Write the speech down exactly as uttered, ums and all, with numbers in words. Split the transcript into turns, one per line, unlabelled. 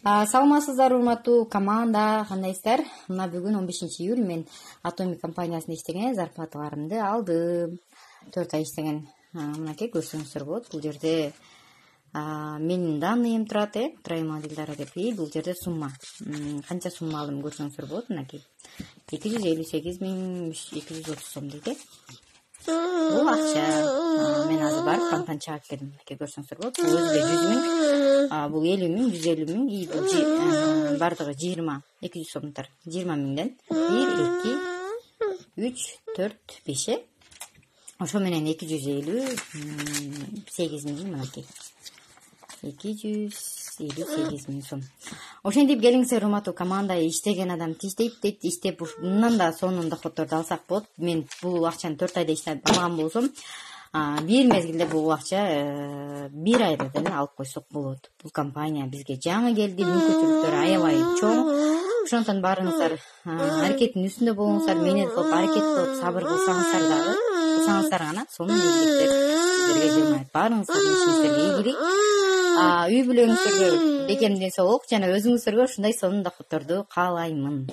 Саламатсыздар урматтуу команда, кандайсыздар? Мына бүгүн он бешинчи июль мен Atomic компаниясында иштеген, зарплаталарымды алдым. төрт ай иштеген. Мынакей көрсөңүздөр болот. Бул жерде менин данныйым турат, э, троемодилдары деп. И бул жерде сумма. Канча сумма алдым көрсөңүздөр болот. Мынакей эки жүз элүү сегиз миң эки жүз отуз сом дейт, э. Бул акча. Мен азыр барып банктан чыгып келдим. Мынакей көрсөңүздөр болот. Бул өзү жүз миң, бул элүү миң, жүз элүү миң, и бул бардыгы жыйырма, эки жүз сомдор. жыйырма миңден бир, эки, үч, төрт, беш, э. Ошо менен эки жүз элүү сегиз миң, мынакей. эки жүз элүү сегиз миң сом. Ошентип келиңиздер урматтуу команда, иштеген адам тиштейт дейт, иштеп мындан да сонун доходдорду алсак болот. Мен бул акчаны төрт айда иштеп алган болсом, бир мезгилде бул акча бир айда деле алып койсок болот. Бул компания бизге жаңы келди, мүмкүнчүлүктөрү аябай чоң. Ошондон баарыңыздар аракеттин үстүндө болуңуздар, менет кылып, аракет кылып, сабыр кылсаңыздар дагы, кылсаңыздар гана сонун ийгиликтер сиздерге жылмайт. Баарыңыздар ишиңиздерге ийгилик, үй бүлөңүздөргө бекем ден соолук жана өзүңүздөргө ушундай сонун доходдорду каалаймын.